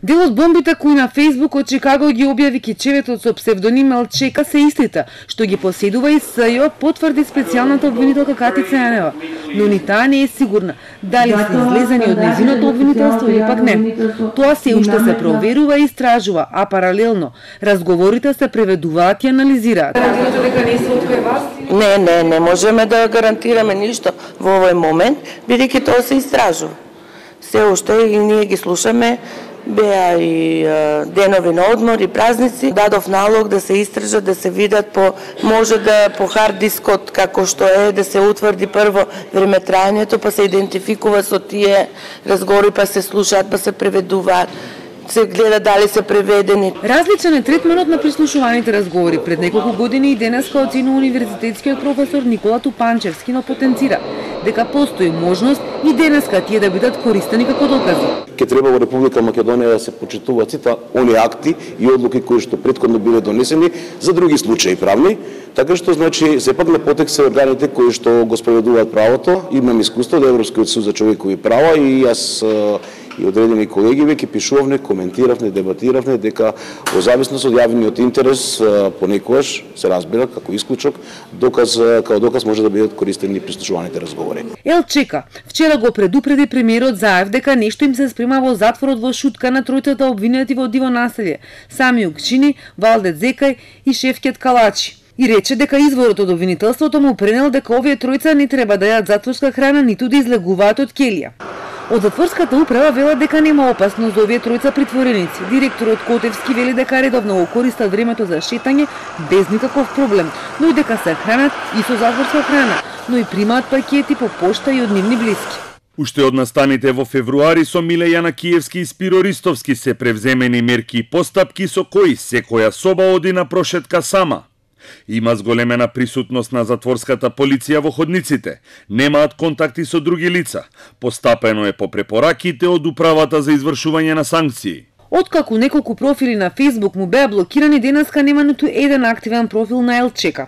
Дел од бомбите кои на Facebook од Чикаго ги објави кичеветот со псевдоним Елчека се истите, што ги поседува и СЈО, потврди специјалната обвинителка Катица Јанева, но ни таа не е сигурна дали се излезени од незиното обвинителство или пак не. Тоа се уште се проверува и истражува, а паралелно разговорите се преведуваат и анализираат. Не можеме да гарантираме ништо во овој момент, бидејќи тоа се истражува. Се уште и ние ги слушаме. Беа и денови на одмор и празници. Дадов налог да се истражат, да се видат може да по хард дискот како што е, да се утврди прво времетрајањето, па се идентификува со тие разговори, па се слушаат, па се преведуваат. Се гледа дали се преведени. Различен е третманот на прислушуваните разговори. Пред неколку години и денеска оценува универзитетскиот професор Никола Тупанчевски, но потенцира дека постои можност и денеска тие да бидат користени како докази. Ке треба во Република Македонија да се почитуваат сите оние акти и одлуки кои што претходно биле донесени за други случаи правни, така што значи сепак на потек се органите кои што го спроведуваат правото. Имам искуство од Европскиот суд за човекови права и јас и одредени колеги веќе пишувавме, коментиравме, дебатиравме дека во зависност од јавниот интерес понекогаш се разбира како исклучок како доказ може да бидат користени прислушуваните разговори. Елчека вчера го предупреди премиерот Заев дека нешто им се спрема во затворот во шутка на тројцата обвинети во диво населје: Сами Укчини, Валдет Зекај и Шевкет Калачи. И рече дека изворот од обвинителството му пренел дека овие тројца не треба да јадат затворска храна ниту да излегуваат од келија. Од затворската управа велат дека нема опасност за овие тројца притвореници. Директорот Котевски вели дека редовно го користат времето за шетање без никаков проблем, но и дека се хранат и со затворска храна, но и примаат пакети по пошта и од нивни блиски. Уште од настаните во февруари со Миле Јанакиевски и Спиро Ристовски се превземени мерки и постапки со кои секоја соба оди на прошетка сама. Има зголемена присутност на затворската полиција во ходниците, немаат контакти со други лица, постапено е по препораките од управата за извршување на санкции. Откако неколку профили на Facebook му беа блокирани, денеска нема ниту еден активен профил на Елчека.